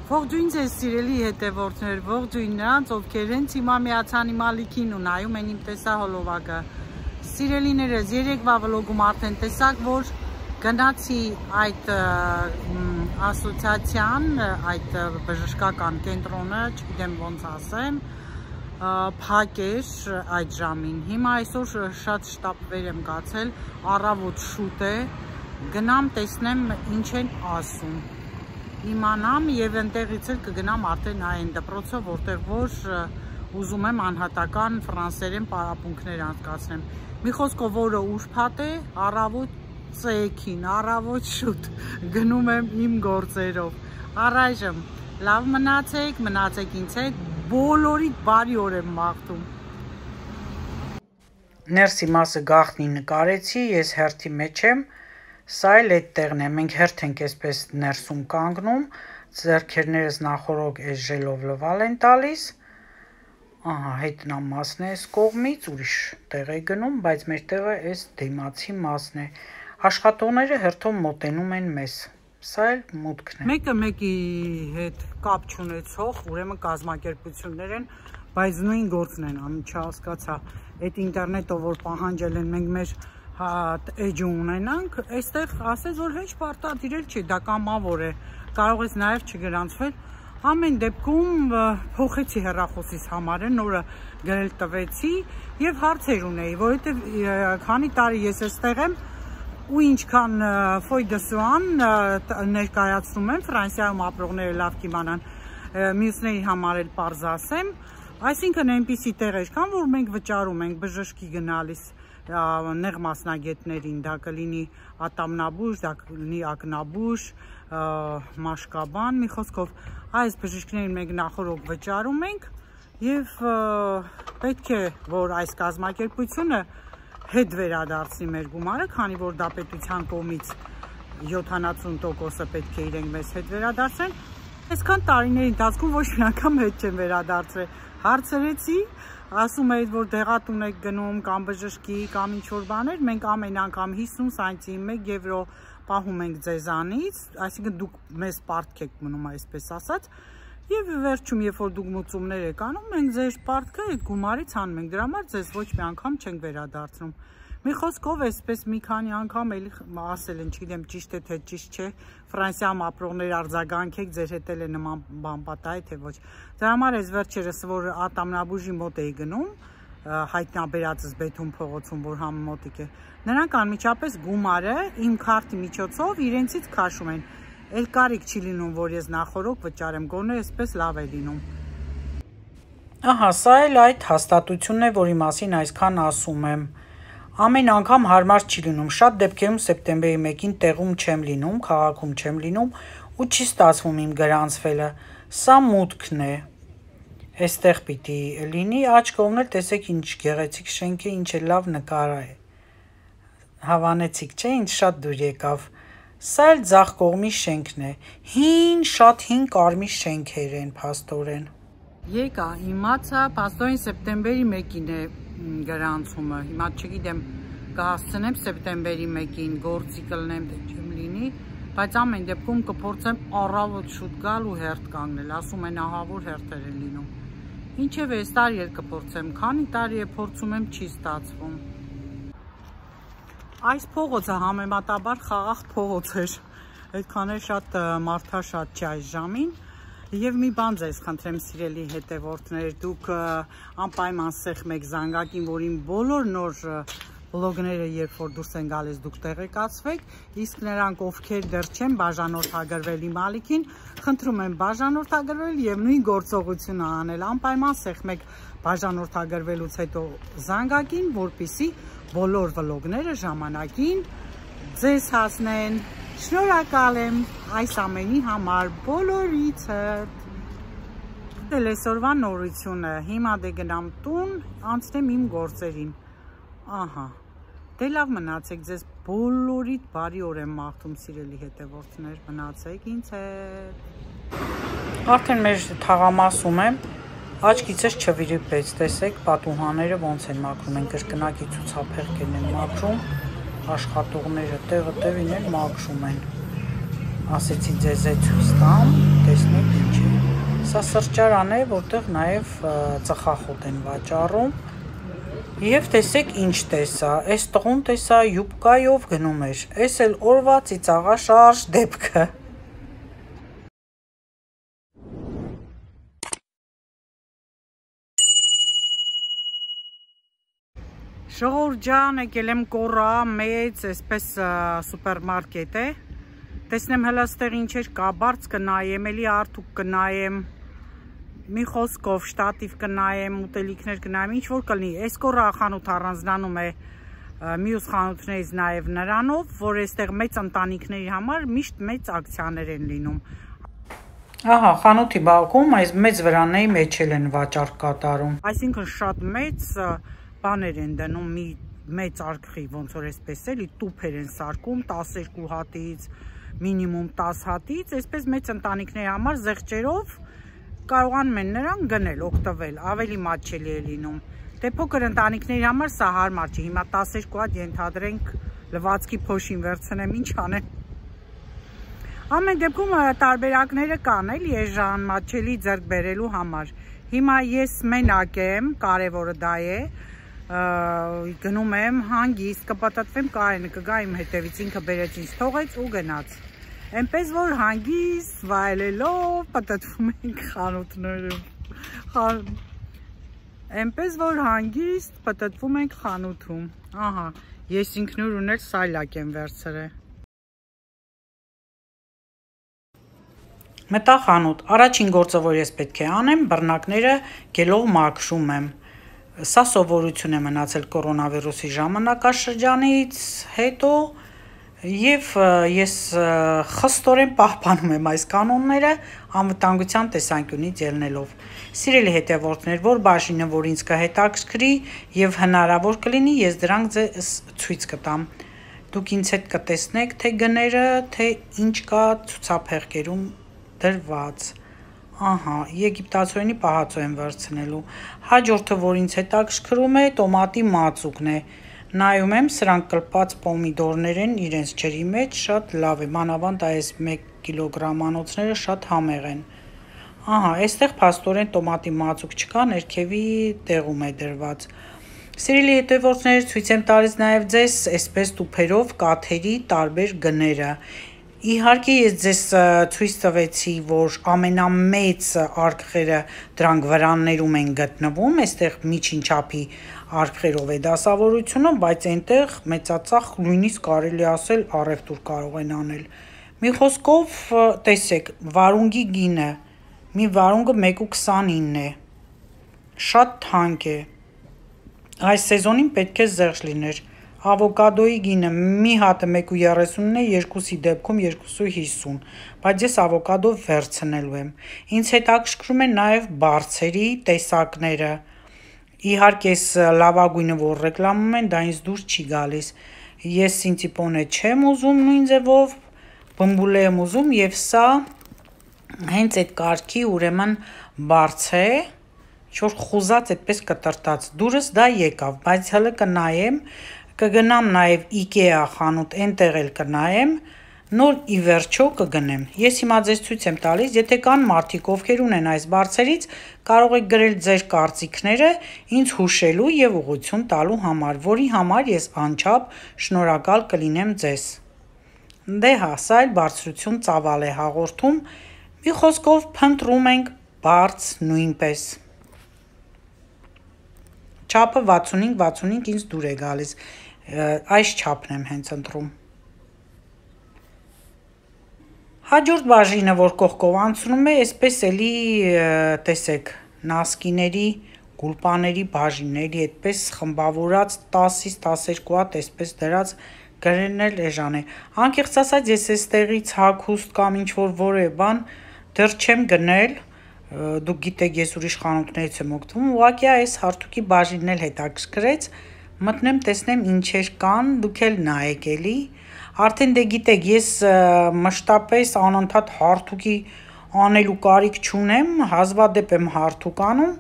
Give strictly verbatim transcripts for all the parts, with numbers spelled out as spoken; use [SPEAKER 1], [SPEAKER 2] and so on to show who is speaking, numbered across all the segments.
[SPEAKER 1] Ողջույն ձեզ սիրելի հետևորդներ, ողջույն նրանց, ովքեր հենց հիմա միացան իմ ալիքին ու նայում են իմ տեսահոլովակը։ Սիրելիներս, երեկվա վլոգում արդեն տեսաք, որ գնացի այդ ասոցիացիան, այդ բժշկական կենտրոնը, չգիտեմ ոնց ասեմ, փակ էր այդ ժամին։ Հիմա այսօր շատ շտապ եմ կացել, առավոտ շուտ է, գնամ տեսնեմ ինչ են ասում։ Իմանամ եւ ընտեղից էլ կգնամ արդեն այն դպրոցը, որտեղ որ ուզում եմ անհատական ֆրանսերեն պարապմունքներ անցկացնեմ։ Մի խոսքով օրը ուրբաթ է, առավոտ ցեքին, առավոտ շուտ գնում եմ իմ գործերով։ Առայժմ լավ մնացեք, մնացեք ինձ հետ, բոլորիդ բարի օր եմ մաղթում։ Ներսի մասը գաղտնի նկարեցի, ես հերթի մեջ եմ։ Սա էլ այդ տեղն է, մենք հերթ ենք այսպես ներսում կանգնում, ձեռքերներս նախորոք այս ժելով լվալ են տալիս, ահա հետնամասն է այս կողմից, ուրիշ տեղ է գնում, բայց մեր տեղը այս դիմացի մասն է, աշխատողները հերթով մոտենում են մեզ, սա էլ մուտքն է։ Մեկը մեկի հետ կապ չունեցող, ուրեմն կազմակերպություններ են, բայց նույն գործն են անում, չհասկացա, այդ ինտերնետով որ պահանջել են մենք մեր էջը ունենանք, այստեղ ասես, որ հեչ պարտադիր էլ չի, դա կամավոր է, կարող ես նաև չգրանցվել, ամեն դեպքում փոխեցի հեռախոսիս համարը, նորը գրել տվեցի և հարցեր ունեի, որովհետև քանի տարի ես այստեղ եմ ու ինչքան ֆոյ դե սուան ներկայացնում եմ, Ֆրանսիայում ապրողները լավ կիմանան, մյուսների համար էլ պարզ ասեմ, այսինքն այնպիսի տեղեր կան, որ մենք վճարում ենք բժշկի գնալիս նեղ մասնագետներին, դա կլինի ատամնաբույժ, դա կլինի ակնաբույժ, մաշկաբան, մի խոսքով այս բժիշկներին մենք նախորոք վճարում ենք և պետք է, որ այս կազմակերպությունը հետ վերադարձնի մեր գումարը, քանի որ դա պետության կողմից յոթանասուն տոկոսը պետք է իրենք մեզ հետ վերադարձեն, այսքան տարիների ընթացքում ոչ մի անգամ հետ չեն վերադարձրել, հարցրեցի, ասում էի, որ դեղատուն եք գնում կամ բժշկի կամ ինչ-որ բաներ, մենք ամեն անգամ հիսուն սանտիմ մեկ եվրո պահում ենք ձեզանից, այսինքն դուք մեզ պարտք եք մնում, այսպես ասած, և վերջում, երբ որ դուք մուծումներ եք անում, մենք ձեր պարտքը այդ գումարից հանում ենք, դրա համար ձեզ ոչ մի անգամ չենք վերադարձնում։ Մի խոսքով այսպես մի քանի անգամ էլի ասել են, չգիտեմ ճիշտ է թե ճիշտ չէ, Ֆրանսիայում ապրողներ արձագանքեք, ձեր հետ էլ է նման բան պատահի թե ոչ։ Դրա համար այս վերջերս, որ ատամնաբույժի մոտ էի գնում, հայտնաբերածս Բեթուն փողոցում, որ համ մոտիկ է, նրանք անմիջապես գումարը իմ քարտի միջոցով իրենցից քաշում են։ Էլ կարիք չի լինում, որ ես նախորոք վճարեմ, գոնե այսպես լավ է լինում։ Ահա, սա էլ այդ հաստատությունն է, որի մասին այսքան ասում եմ։ Ամեն անգամ հարմար չի լինում, շատ դեպքերում սեպտեմբերի մեկին տեղում չեմ լինում, քաղաքում չեմ լինում ու չի ստացվում իմ գրանցվելը, սա մուտքն է, այստեղ պիտի լինի, աջ կողմն էլ տեսեք ինչ գեղեցիկ շենք է, ինչ է լավ նկար է, հավանեցիք չէ, ինչ շատ դուր եկավ, սա էլ ձախ կողմի շենքն է, հին, շատ հին կարմիր շենքեր են փաստորեն։ Եկա, իմացա, փաստորեն սեպտեմբերի մեկին է գրանցումը, հիմա չգիտեմ կհասցնեմ սեպտեմբերի մեկին գործի կլնեմ թե չեմ լինի, բայց ամեն դեպքում կփորձեմ առավոտ շուտ գալ ու հերթ կանգնել, ասում են ահավոր հերթեր են լինում, ինչև այս տարի էլ կփորձեմ, քանի տարի է փորձում եմ չի ստացվում։ Այս փողոցը համեմատաբար խաղաղ փողոց էր, այդքան էլ շատ մարդաշատ չի այս ժամին, և մի բան ձեզ խնդրեմ սիրելի հետևորդներ, դուք անպայման սեղմ եք զանգակին, որ իմ բոլոր նոր վլոգները երբ որ դուրս են գալիս դուք տեղեկացվեք, իսկ նրանք ովքեր դեռ չեն բաժանորդագրվել իմ ալիքին, խնդրում եմ բաժանորդագրվել և նույն գործողությունը անել, անպայման սեղմեք բաժանորդագրվելուց հետո զանգակին, որպեսզի բոլոր վլոգները ժամանակին ձեզ հասնեն։ Շնորհակալ եմ այս ամենի համար բոլորիցդ։ Դել այսօրվա նորությունը, հիմա դե գնամ տուն, անցնեմ իմ գործերին։ Ահա, դե լավ մնացեք, ձեզ բոլորիդ բարի օր եմ մաղթում սիրելի հետևորդներ, մնացեք ինձ հետ։ Արդեն մեր թաղամասում եմ, աչքիցս չվիրիպեց, տեսեք պատուհանները ոնց են մաքրում, են կրկնակի ցուցափեղկերն են մաքրում, աշխատողները տեղը տեղին էլ մաքրում են, ասեցի ձեզ է ցույց տամ, տեսնեք ինչ Սա սրճարան է, որտեղ նաև ծխախոտ են վաճառում։ Եվ տեսեք ինչ տեսա, այս տղուն տեսա յուբկայով գնում էր, այս էլ օրվա ծիծաղաշարժ դեպքը։ Ժողովուրդ ջան, եկել եմ կորա մեծ, այսպես սուպերմարկետ է։ Տեսնեմ հələ ստեղ ինչեր կա, բարձ կնայեմ, էլի արդուկ կնայեմ, մի խոսքով շտատիվ կնայեմ, ուտելիքներ կնայեմ, ինչ որ կլինի։ Այս կորա խանութ առանձնանում է մյուս խանութներից նաև նրանով, որ այստեղ մեծ ընտանիքների համար միշտ մեծ ակցիաներ են լինում։ Ահա, խանութի բակում այս մեծ վրանների մեջ են վաճառք կատարում։ Այսինքն շատ մեծ բաներ են դնում, մի մեծ արկղի, ոնց որ այսպես էլի տուփեր են սարքում տասներկու հատից, մինիմում տաս հատից, այսպես մեծ ընտանիքների համար զեղչերով կարողանում են նրան գնել, օգտվել, ավելի մատչելի է լինում։ Դե փոքր ընտանիքների համար սա հարմար չի, հիմա տասներկու հատ ենթադրենք լվացքի փոշին վերցնեմ, ինչ անեմ։ Ամեն դեպքում տարբերակները կան, էլի էժան, մատչելի ձեռք բերելու համար։ Հիմա ես մենակ եմ, կարևորը դա է, գնում եմ հանգիստ, կպատատվեմ Կարենը, կգա իմ հետևից, ինքը բերեց ինձ թողեց ու գնաց։ Էնպես որ հանգիստ վայելելով պատատվում ենք խանութներում։ Էնպես որ հանգիստ պատատվում ենք խանութում։ Ահա, ես ինքնուր ունել սայլակ եմ վերցրել։ Մտա խանութ, առաջին գործը, որ ես պետք է անեմ, բռնակները գելով մաքրում եմ։ Սա սովորություն է մնացել կորոնավիրուսի ժամանակաշրջանից հետո եւ ես խստորեն պահպանում եմ այս կանոնները անվտանգության տեսանկյունից ելնելով։ Սիրելի հետևորդներ, որ բաժինը, որ ինձ կհետաքրքրի եւ հնարավոր կլինի, ես դրանք ձեզ ցույց կտամ։ Դուք ինձ հետ կտեսնեք թե գները, թե ինչ կա ցուցափեղկերում դրված։ Ահա, եգիպտացորենի պահածո եմ վերցնելու։ Հաջորդը, որ ինձ հետաքրքրում է, տոմատի մածուկն է։ Նայում եմ, սրանք կլպած պոմիդորներ են իրենց ջրի մեջ, շատ լավ է, մանավանդ այս մեկ կիլոգրամանոցները շատ համեղ են։ Ահա, այստեղ փաստորեն տոմատի մածուկ չկա, ներքևի տեղում է դրված։ Սիրելի հետևորդներ, ցույց եմ տալիս նաև ձեզ այսպես տուփերով կաթերի տարբեր գները։ Իհարկե ես ձեզ ցույց տվեցի, որ ամենամեծ արկղերը դրանք վրաններում են գտնվում, այստեղ միջին չափի արկղերով է դասավորությունը, բայց այնտեղ մեծածախ նույնիսկ կարելի ասել առևտուր կարող են անել։ Մի խոսքով, տեսեք, վարունգի գինը, մի վարունգը մեկ ու քսանինն է, շատ թանկ է, այս սեզոնին պետք է զերծ լիներ։ Ավոկադոյի գինը մի հատը մեկ ու երեսունն է, երկուսի դեպքում երկու ու հիսուն, բայց ես ավոկադո վերցնելու եմ։ Ինձ հետաքրքրում են նաև բարձերի տեսակները։ Իհարկե ես լավագույնը, որ ռեկլամում են, դա ինձ դուր չի գալիս։ Ես սինցիպոնե չեմ ուզում նույն ձևով, բմբուլե եմ ուզում եւ սա հենց այդ կարգի ուրեմն բարձ է, որ խուզած այդպես կտրտած։ Դուրս դա եկավ, բայց հələ կնայեմ, կգնամ նաև Ikea խանութ, այնտեղ էլ կնայեմ, նոր ի վերջո կգնեմ։ Ես հիմա ձեզ ցույց եմ տալիս, եթե կան մարդիկ, ովքեր ունեն այս բարձերից, կարող եք գրել ձեր կարծիքները ինձ հուշելու եւ ուղղություն տալու համար, որի համար ես անչափ շնորհակալ կլինեմ ձեզ։ Դե հա, սա էլ բարձրություն ծավալ է հաղորդում, մի խոսքով փնտրում ենք բարձ նույնպես։ Չափը վաթսունհինգ վաթսունհինգ ինձ դուր է գալիս, այս չափն եմ հենց ընտրում։ Հաջորդ բաժինը, որ կողքով անցնում է, այսպես էլի տեսեք, նասկիների, գուլպաների բաժինների, այդպես խմբավորած տասից տասներկու հատ այսպես դրած գրելն էլ էժան է։ Անկեղծ ասած, ես այստեղից հագուստ կամ ինչ-որ որևէ բան դեռ չեմ գնել, դուք գիտեք, ես ուրիշ խանութներից եմ օգտվում, ուղղակի այս հարթուկի բաժինն էլ հետաքրքրեց, մտնեմ, տեսնեմ ինչեր կան, դուք էլ նայեք էլի։ Արդեն դե գիտեք, ես մշտապես անընդհատ հարթուկի անելու կարիք չունեմ, հազվադեպ եմ հարթուկ անում,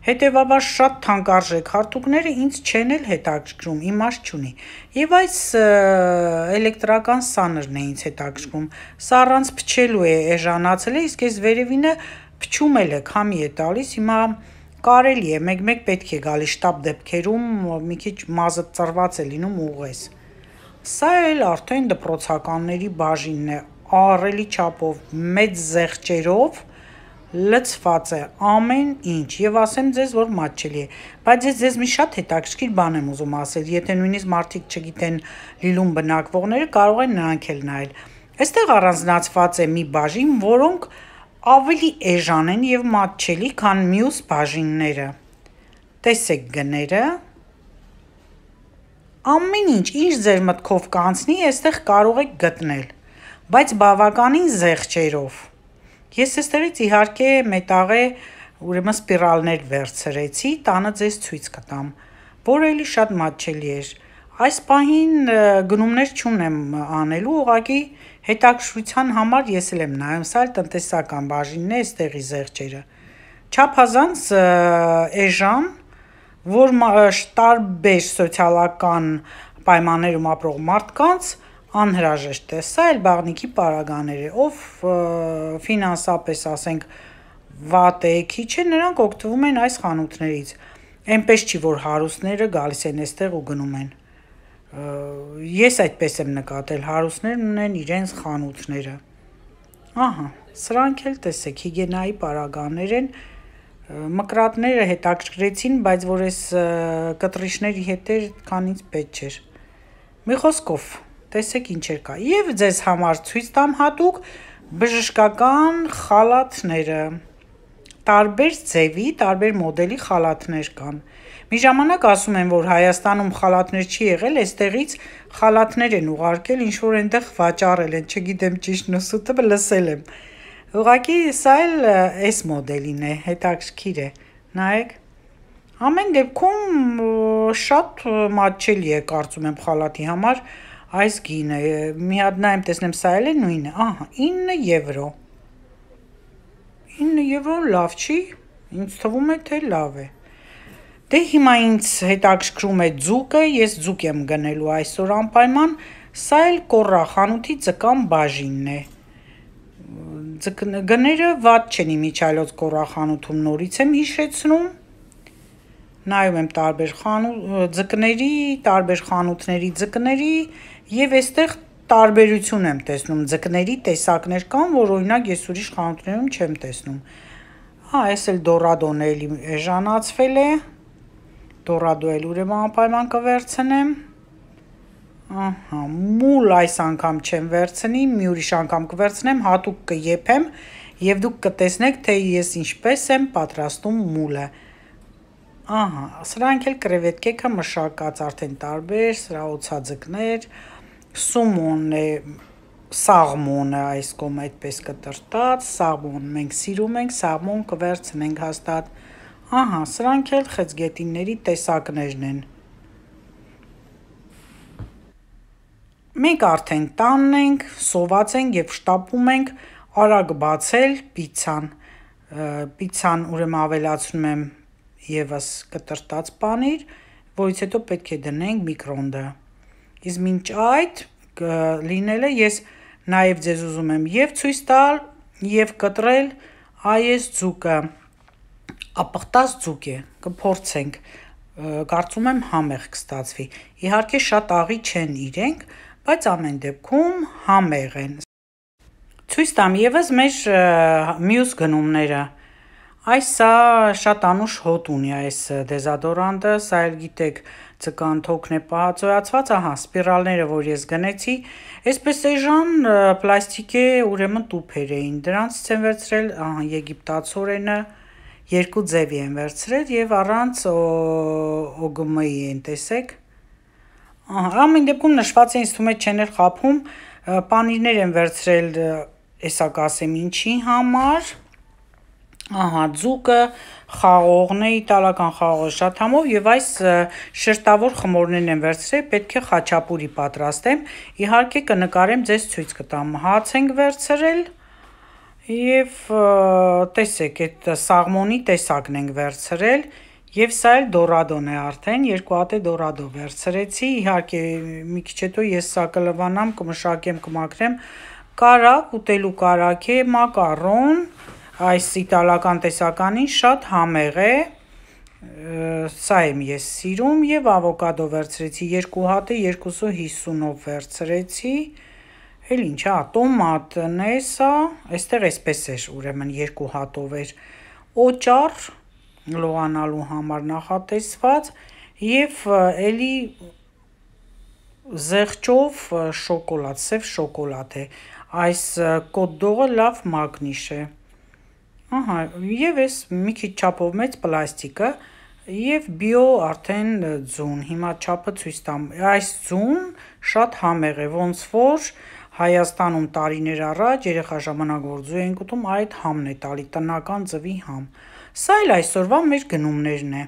[SPEAKER 1] հետևաբար շատ թանկարժեք հարթուկները ինձ չեն էլ հետաքրքրում, իմաստ չունի։ Եվ այս էլեկտրական սանրն է ինձ հետաքրքրում, սա առանց փչելու է էժանացել է, իսկ այս վերևինը փչում էլ է, քամի է տալիս, հիմա կարելի է, մեկ-մեկ պետք է գալի շտապ դեպքերում, մի քիչ մազը ծռված է լինում ուղես։ Սա էլ արդեն դպրոցականների բաժինն է, ահռելի չափով, մեծ զեղչերով լցված է ամեն ինչ, եւ ասեմ ձեզ, որ մատչելի է, բայց ես ձեզ մի շատ հետաքրքիր բան եմ ուզում ասել, եթե նույնիսկ մարդիկ չգիտեն Լիլում բնակվողները, կարող են նրանք էլ նայել։ Այստեղ առանձնացված է մի բաժին, որոնք ավելի էժան են եւ մատչելի, քան մյուս բաժինները։ Տեսեք գները։ Ամեն ինչ, ինչ ձեր մտքով կանցնի, այստեղ կարող եք գտնել, բայց բավականին զեղչերով։ Ես այստեղից իհարկե մետաղե, ուրեմն սպիրալներ վերցրեցի, տանը ձեզ ցույց կտամ, որը էլի շատ մատչելի էր։ Այս պահին գնումներ չունեմ անելու, ուղղակի հետաքրքրության համար ես էլ եմ նայում, սա էլ տնտեսական բաժինն է, այստեղի զեղչերը։ Չափազանց էժան, որ տարբեր սոցիալական պայմաններում ապրող մարդկանց անհրաժեշտ է, սա էլ բաղնիքի պարագաներ է, ով ֆինանսապես, ասենք, վատ է, քիչ է, նրանք օգտվում են այս խանութներից, այնպես չի, որ հարուստները գալիս են այստեղ ու գնում են։ Ես այդպես եմ նկատել, հարուստներն ունեն իրենց խանութները։ Ահա, սրանք էլ տեսեք, հիգիենայի պարագաներ են, մկրատները հետաքրքրեցին, բայց որ այս կտրիչների հետ էր, քան ինձ պետք չէր։ Մի խոսքով, տեսեք ինչեր կա։ Եվ ձեզ համար ցույց տամ հատուկ բժշկական խալաթները։ Տարբեր ձևի, տարբեր մոդելի խալաթներ կան։ Մի ժամանակ ասում են, որ Հայաստանում խալաթներ չի եղել, այստեղից խալաթներ են ուղարկել, ինչ որ այնտեղ վաճառել են, չգիտեմ ճիշտ նսուտը, լսել եմ։ Ուղղակի սա էլ այս մոդելին է, հետաքրքիր է։ Նայեք։ Ամեն դեպքում շատ մատչելի է, կարծում եմ, խալաթի համար այս գինը։ Մի հատ նայեմ, տեսնեմ, սա էլ է նույնը։ Ահա, ինը եվրո։ ինը եվրո լավ չի, ինձ թվում է, թե լավ է։ Դե հիմա ինձ հետաքրքրում է ձուկը, ես ձուկ եմ գնելու այսօր անպայման, սա էլ կոռա խանութի ձկան բաժինն է։ Գները վատ չեն իմիջիայլոց կոռա խանութում, նորից եմ հիշեցնում։ Նայում եմ տարբեր ձկների, տարբեր խանութների ձկների եւ այստեղ տարբերություն եմ տեսնում, ձկների տեսակներ կան, որ օրինակ ես ուրիշ խանութներում չեմ տեսնում։ Հա, այս էլ դորադոն է, էլի էժանացվել է։ Դորադո էլ ուրեմն անպայման կվերցնեմ։ Ահա, մուլ այս անգամ չեմ վերցնի, մի ուրիշ անգամ կվերցնեմ, հատուկ կեփեմ եւ դուք կտեսնեք, թե ես ինչպես եմ պատրաստում մուլը։ Ահա, սրանք էլ կրևետկեքը մշակած արդեն տարբեր, սրա օծաձկներ, սումոնն է, սաղմոնը այս կողմ այդպես կտրտած, սաղմոն մենք սիրում ենք, սաղմոն կվերցնենք հաստատ։ Ահա, սրանք էլ խեցգետինների տեսակներն են։ Մենք արդեն տանն ենք, սոված ենք և շտապում ենք արագ բացել պիցցան։ Պիցցան ուրեմն ավելացնում եմ ևս կտրտած պանիր, որից հետո պետք է դնենք միկրոնդը։ Իսկ մինչ այդ լինելը ես նաև ձեզ ուզում եմ և ցույց տալ, և կտրել այս ձուկը։ Ապխտած ձուկ է, կփորձենք, կարծում եմ համեղ կստացվի։ Իհարկե շատ աղի չեն իրենք, բայց ամեն դեպքում համեղ են։ Ցույց տամ ևս մեր մյուս գնումները։ Այս սա շատ անուշ հոտ ունի այս դեզադորանտը, սա էլ գիտեք, ձկան թոքն է պահածոյացված, ահա, սպիրալները, որ ես գնեցի, այսպես էժան պլաստիկե ուրեմն տուփեր էին, դրանցից եմ վերցրել, ահա, եգիպտացորենը, երկու ձևի են վերցրել եւ առանց օ գ մ-ի են, տեսեք։ Ահա, ամեն դեպքում նշված է, ինձ թվում է չեն էլ խափում, պանիրներ են վերցրել, էսա կասեմ ինչի համար։ Ահա, ձուկը, խաղողն է, իտալական խաղողը շատ համով եւ այս շերտավոր խմորներն են վերցրել, պետք է խաչապուրի պատրաստեմ, իհարկե կնկարեմ, ձեզ ցույց կտամ, հաց ենք վերցրել եւ տեսեք, այդ սաղմոնի տեսակն ենք վերցրել եւ սա էլ դորադոն է արդեն, երկու հատ է դորադո վերցրեցի, իհարկե մի քիչ հետո ես սա կլվանամ, կմշակեմ, կմաքրեմ, կարակ, ուտելու կարակ է, մակարոն, այս իտալական տեսականին շատ համեղ է, սա եմ ես սիրում եւ ավոկադո վերցրեցի երկու հատը երկուսը հիսունով վերցրեցի, էլ ինչ է, տոմատն է սա, այստեղ էսպես էր, ուրեմն երկու հատով էր, օճառ լողանալու համար նախատեսված եւ էլի զեղչով շոկոլադ, սև շոկոլադ է, այս կոտ-դողը լավ մագնիշ է, ահա, եւ էս մի քիչ չափով մեծ պլաստիկը եւ բիո արդեն ձուն, հիմա չափը ցույց տամ, այս ձուն շատ համեղ է, ոնց որ Հայաստանում տարիներ առաջ երեխա ժամանակ որ ձու ենք ուտում, այդ համն է տալի, տնական ձվի համ, սա էլ այսօրվա մեր գնումներն է։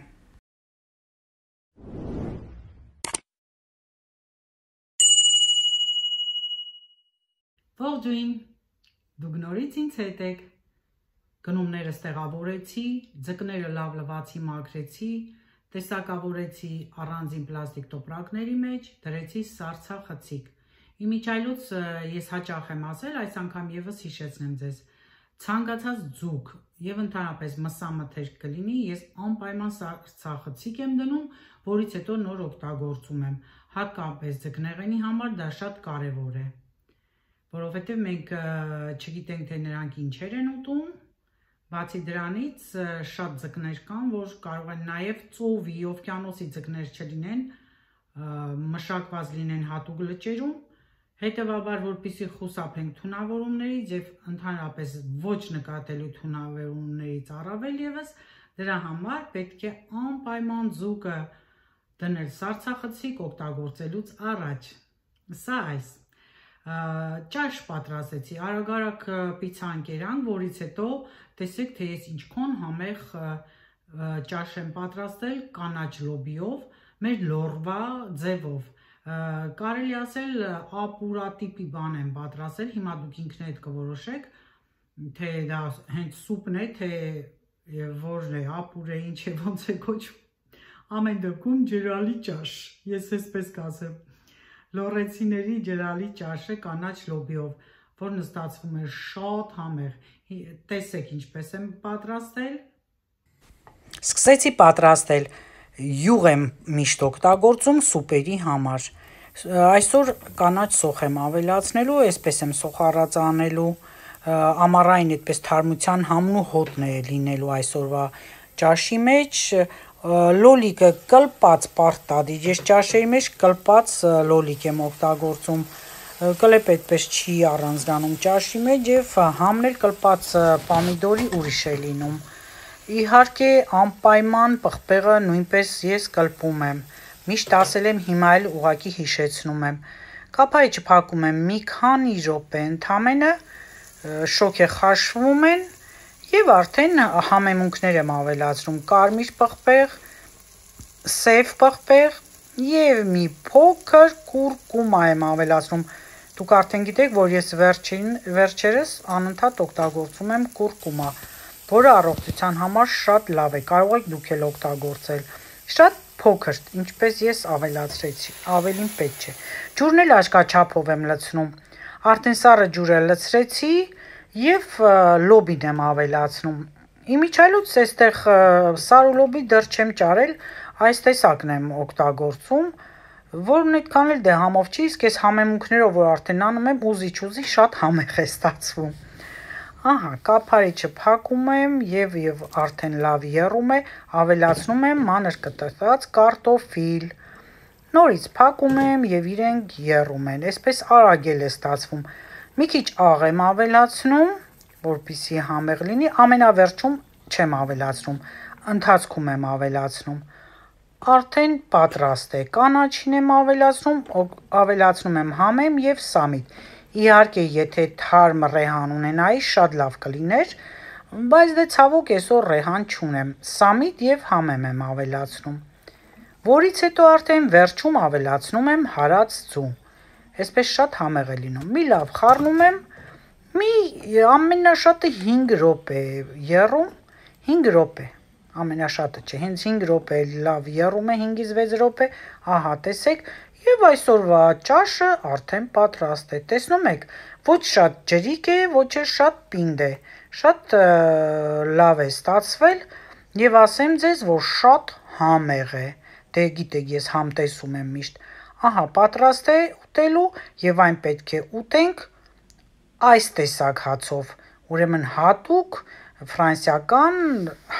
[SPEAKER 1] Ողջույն, դուք նորից ինձ հետ եք, գնումներս տեղավորեցի, ձկները լավ լվացի մաքրեցի, տեսակավորեցի առանձին պլաստիկ տոպրակների մեջ, դրեցի սառցախցիկ, իմիջայլոց ես հաճախ եմ ասել, այս անգամ եւս հիշեցնեմ ձեզ, ցանկացած ձուկ եւ ընդհանրապես մսամթերք կլինի, ես անպայման սառցախցիկ եմ դնում, որից հետո նոր օգտագործում եմ, հատկապես ձկնեղենի համար դա շատ կարեւոր է։ Որովհետև մենք չգիտենք, թե նրանք ինչեր են ուտում, բացի դրանից շատ ձկներ կան, որ կարող են նաև ծովի, օվկիանոսի ձկներ չլինեն, մշակված լինեն հատուկ լճերում, հետևաբար, որպեսզի խուսափենք թունավորումներից եւ ընդհանրապես ոչ նկատելու թունավորումներից առավել եւս, դրա համար պետք է անպայման ձուկը դնել սառցախցիկ օգտագործելուց առաջ։ Սա այս ճաշ պատրաստեցի, արագ-արագ պիցցա ընկերանք, որից հետո տեսեք, թե ես ինչքան համեղ ճաշ եմ պատրաստել կանաչ լոբիով, մեր լորվա ձևով, կարելի ասել ապուրատիպի բան եմ պատրաստել, հիմա դուք ինքներդ կորոշեք, թե դա հենց սուպն է, թե որն է, ապուր է, ինչ է, ոնց է կոչվում, ամեն դեպքում ջրալի ճաշ, ես էսպես կասեմ, լոռեցիների ջրալի ճաշը կանաչ լոբիով, որն ստացվում է շատ համեղ, տեսեք ինչպես եմ պատրաստել, սկսեցի պատրաստել, յուղ եմ միշտ օգտագործում սուպերի համար, այսօր կանաչ սոխ եմ ավելացնելու, այսպես եմ սոխառած անելու, ամառային այդպես թարմության համն ու հոտն է լինելու այսօրվա ճաշի մեջ, լոլիկը կլպած պարտադիր, ես ճաշերի մեջ կլպած լոլիկ եմ օգտագործում, կլեպ այդպես չի առանձնանում ճաշի մեջ եւ համն էլ կլպած պամիդորի ուրիշ է լինում, իհարկե անպայման պղպեղը նույնպես ես կլպում եմ, միշտ ասել եմ հիմա էլ ուղղակի հիշեցնում եմ, կափարիչը փակում եմ մի քանի րոպե ընդամենը, շոկը խաշվում են եւ արդեն համեմունքներ եմ ավելացնում, կարմիր պղպեղ, սև պղպեղ եւ մի փոքր կուրկումա եմ ավելացնում, դուք արդեն գիտեք, որ ես վերջին, վերջերս անընդհատ օգտագործում եմ կուրկումա, որը առողջության համար շատ լավ է, կարող եք դուք էլ օգտագործել, շատ փոքր, ինչպես ես ավելացրեցի, ավելին պետք չէ, ջուրն էլ աշկաչափով եմ լցնում, արդեն սառը ջուրը լցրեցի եւ լոբին եմ ավելացնում, իմիջայլոց այստեղ սառը լոբի դեռ չեմ ճարել, այս տեսակն եմ օգտագործում, որն այդքան էլ դե համով չի, իսկ ես համեմունքներով որ արդեն անում եմ, ուզիչ-ուզի շատ համեղ է ստացվում, ահա, կափարիչը փակում եմ եւ եւ արդեն լավ եռում է, ավելացնում եմ մանր կտրատած կարտոֆիլ, նորից փակում եմ եւ իրենք եռում են, այսպես արագ էլ է ստացվում, մի քիչ աղ եմ ավելացնում, որպեսզի համեղ լինի, ամենավերջում չեմ ավելացնում, ընթացքում եմ ավելացնում, արդեն պատրաստ է, կանաչին եմ ավելացնում, ավելացնում եմ համեմ եւ սամիտ, իհարկե եթե թարմ ռեհան ունենայի շատ լավ կլիներ, բայց դե ցավոք այսօր ռեհան չունեմ, սամիտ եւ համեմ եմ ավելացնում, որից հետո արդեն վերջում ավելացնում եմ հարած ձու, այսպես շատ համեղ է լինում, մի լավ խառնում եմ, մի ամենաշատը հինգ րոպե եռում, հինգ րոպե, ամենաշատը չէ, հենց հինգ րոպե լավ եռում է, հինգից վեց րոպե, ահա տեսեք, եւ այսօրվա ճաշը արդեն պատրաստ է, տեսնում եք, ոչ շատ ջրիկ է, ոչ էլ շատ պինդ է, Շատ լավ է ստացվել եւ ասեմ ձեզ, որ շատ համեղ է։ Դե գիտեք, ես համ տեսում եմ միշտ։ Ահա, պատրաստ է ուտելու եւ այն պետք է ուտենք այս տեսակ հացով։ Ուրեմն հատուկ ֆրանսիական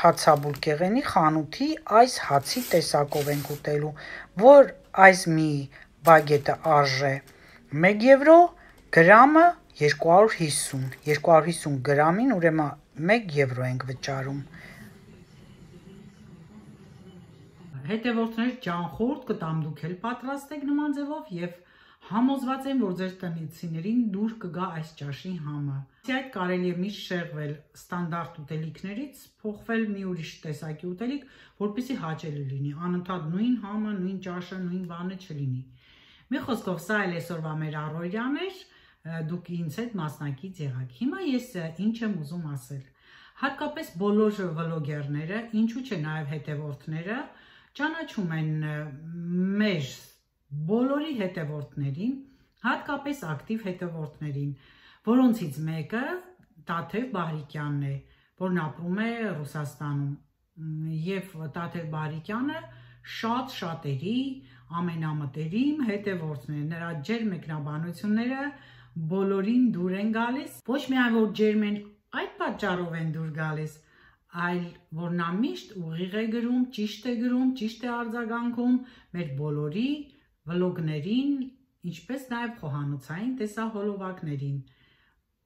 [SPEAKER 1] հացաբուլկեղենի խանութի այս հացի տեսակով ենք ուտելու, որ այս մի բագետը արժե մեկ եվրո, գրամը երկու հարյուր հիսուն, երկու հարյուր հիսուն գրամին, ուրեմն մեկ եվրո ենք վճարում։ Հետևորդներ, ճանխորդ կտամ դուք էլ պատրաստեք նման ձևով եւ համոզված եմ, որ ձեր տնեցիներին դուր կգա այս ճաշի համը։ Այդ կարելի է միշտ շեղվել ստանդարտ ուտելիքներից, փոխվել մի ուրիշ տեսակի ուտելիք, որպեսզի հաճելի լինի, անընդհատ նույն համը, նույն ճաշը, նույն բանը չլինի։ Մի խոսքով, սա էլ այսօրվա մեր առօրյան էր, դուք ինձ հետ մասնակից եղաք։ Հիմա ես ինչ եմ ուզում ասել։ Հատկապես բոլոր վլոգերները, ինչու՞ չէ նաև հետևորդները, ճանաչում են մեր բոլորի հետևորդներին, հատկապես ակտիվ հետևորդներին, որոնցից մեկը Տաթև Բահրիկյանն է, որն ապրում է Ռուսաստանում, եւ Տաթև Բահրիկյանը շատ շատերի ամենամտերիմ հետևորդն է, նրա ջերմ մեկնաբանությունները բոլորին դուր են գալիս, ոչ միայն որ ջերմ են, այդ պատճառով են դուր գալիս, այլ որ նա միշտ ուղիղ է գրում, ճիշտ է գրում, ճիշտ է արձագանքում մեր բոլորի վլոգներին, ինչպես նաև խոհանոցային տեսահոլովակներին։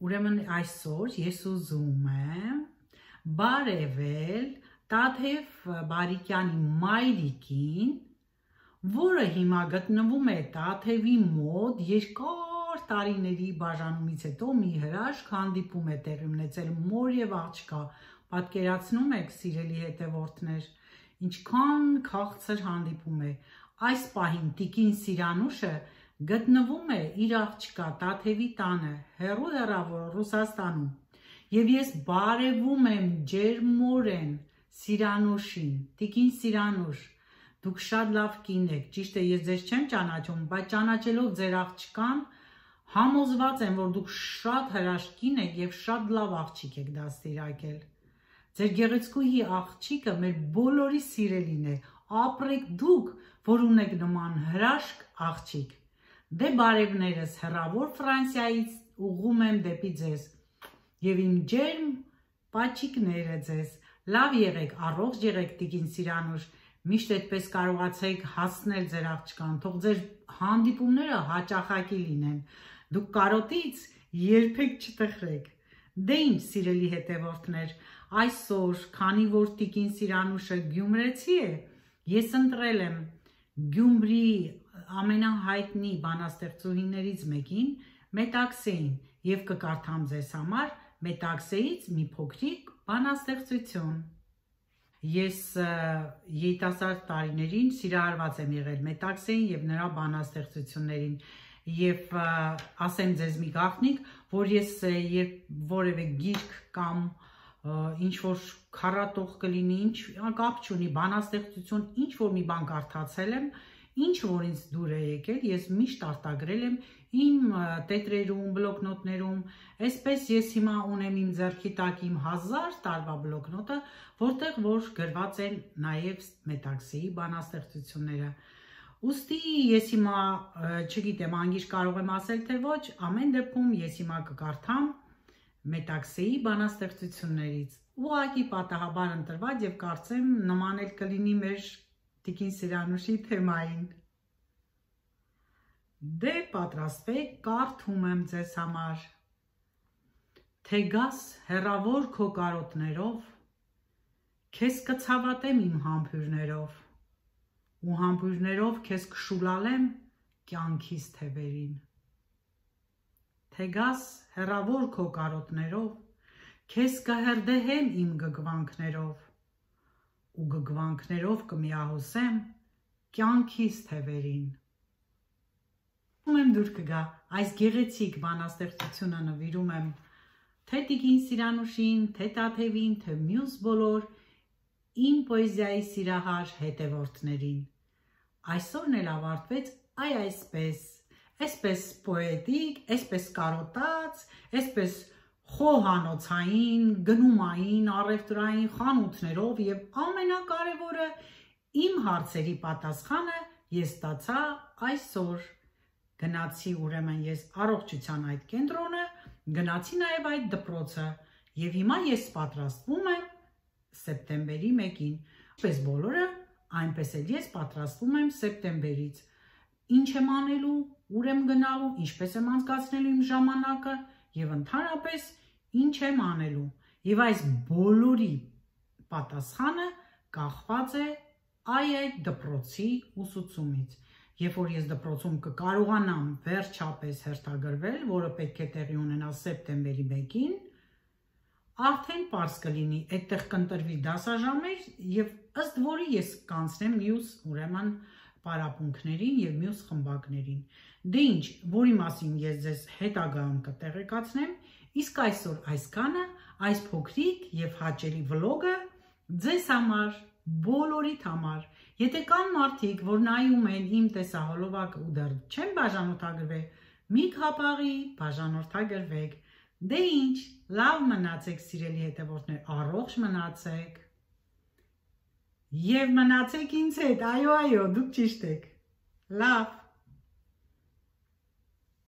[SPEAKER 1] Ուրեմն այսօր ես ուզում եմ բարևել Տաթև Բահրիկյանի մայրիկին, որը հիմա գտնվում է Տաթևի մոտ երկար տարիների բաժանումից հետո մի հրաշք հանդիպում է տեղի ունեցել մոր եւ աղջկա, պատկերացնում եք սիրելի հետևորդներ, ինչքան քաղցր հանդիպում է, այս պահին տիկին Սիրանուշը գտնվում է իր աղջկա Տաթևի տանը, հեռու հեռավոր Ռուսաստանում, եւ ես բարևում եմ ջերմորեն Սիրանուշին, տիկին Սիրանուշ, դուք շատ լավ կին եք, ճիշտ է, ես ձեզ չեմ ճանաչում, բայց ճանաչելով ձեր աղջկան, համոզված եմ, որ դուք շատ հրաշք կին եք եւ շատ լավ աղջիկ եք դաստիարակել։ Ձեր գեղեցկուհի աղջիկը մեր բոլորի սիրելին է, ապրեք դուք, որ ունեք նման հրաշք աղջիկ։ Դե բարևներս հեռավոր Ֆրանսիայից ուղղում եմ դեպի ձեզ եւ իմ ջերմ պաչիկները ձեզ, լավ եղեք, առողջ եղեք տիկին Սիրանուշ, միշտ այդպես կարողացեք հասնել ձեր աղջկան, թող ձեր հանդիպումները հաճախակի լինեն, դուք կարոտից երբեք չտխրեք։ Դե ինչ սիրելի հետևորդներ, այսօր, քանի որ տիկին Սիրանուշը գյումրեցի է, ես ընտրել եմ Գյումրի ամենահայտնի բանաստեղծուհիներից մեկին, Մետաքսեին, եւ կկարդամ ձեզ համար Մետաքսեից մի փոքրիկ բանաստեղծություն։ Ես երիտասարդ տարիներին սիրահարված եմ եղել Մետաքսեին եւ նրա բանաստեղծություններին եւ ասեմ ձեզ մի գաղտնիք, որ ես երբ որևէ գիրք կամ ինչ որ քառատող կլինի, ինչ կապ չունի, բանաստեղծություն, ինչ որ մի բան կարդացել եմ, ինչ որ ինձ դուր է եկել, ես միշտ արտագրել եմ իմ տետրերում, բլոկնոտներում, այսպես ես հիմա ունեմ իմ ձեռքի տակ իմ հազար տարվա բլոկնոտը, որտեղ որ գրված են նաև Մետաքսեի բանաստեղծությունները։ Ուստի ես հիմա, չգիտեմ, անգիր կարող եմ ասել, թե ոչ, ամեն դեպքում ես հիմա կկարդամ Մետաքսեի բանաստեղծություններից, ուղղակի պատահաբար ընտրված եւ կարծեմ նման էլ կլինի մեր տիկին Սիրանուշի թեմային։ Դե պատրաստվեք, կարդում եմ ձեզ համար։ Թե գաս հեռավոր քո կարոտներով, քեզ կցավատեմ իմ համբույրներով, ու համբույրներով քեզ կշուլալեմ կյանքիս թևերին։ Թե գաս հեռավոր քո կարոտներով, քեզ կհրդեհեմ իմ գգվանքներով, ու գգվանքներով կմիահոսեմ կյանքիս թևերին։ Ում եմ դուր կգա, այս գեղեցիկ բանաստեղծությունը նվիրում եմ թե տիկին Սիրանուշին, թե Տաթևին, թե մյուս բոլոր իմ պոեզիայի սիրահար հետևորդներին։ Այսօրն էլ ավարտվեց այ այսպես, այսպես պոետիկ, այսպես կարոտած, այսպես խոհանոցային, գնումային, առևտրային խանութներով եւ ամենակարևորը իմ հարցերի պատասխանը ես ստացա այսօր։ Գնացի ուրեմն ես առողջության այդ կենտրոնը, գնացի նաեւ այդ դպրոցը եւ հիմա ես պատրաստվում եմ սեպտեմբերի մեկին։ Ինչպես բոլորը, այնպես էլ ես պատրաստվում եմ սեպտեմբերից։ Ինչ եմ անելու, ուր եմ գնալու, ինչպես եմ անցկացնելու իմ ժամանակը եւ ընդհանրապես ինչ եմ անելու։ Եվ այս բոլորի պատասխանը կախված է այդ դպրոցի ուսուցումից։ Երբ որ ես դպրոցում կկարողանամ վերջապես հերթագրվել, որը պետք է տեղի ունենա սեպտեմբերի մեկին, արդեն պարզ կլինի, այդտեղ կընտրվի դասաժամեր եւ ըստ որի ես կանցնեմ մյուս ուրեմն պարապմունքներին եւ մյուս խմբակներին։ Դե ինչ, որի մասին ես ձեզ հետագայում կտեղեկացնեմ, իսկ այսօր այսքանը, այս փոքրիկ եւ հաճելի վլոգը ձեզ համար, բոլորիդ համար։ Եթե կան մարդիկ, որ նայում են իմ տեսահոլովակը ու դեռ չեն բաժանորդագրվել, մի քապաղի բաժանորդագրվեք։ Դե ինչ, լավ մնացեք սիրելի հետևորդներ, առողջ մնացեք եւ մնացեք ինձ հետ, այո, այո, դուք ճիշտ եք, լավ։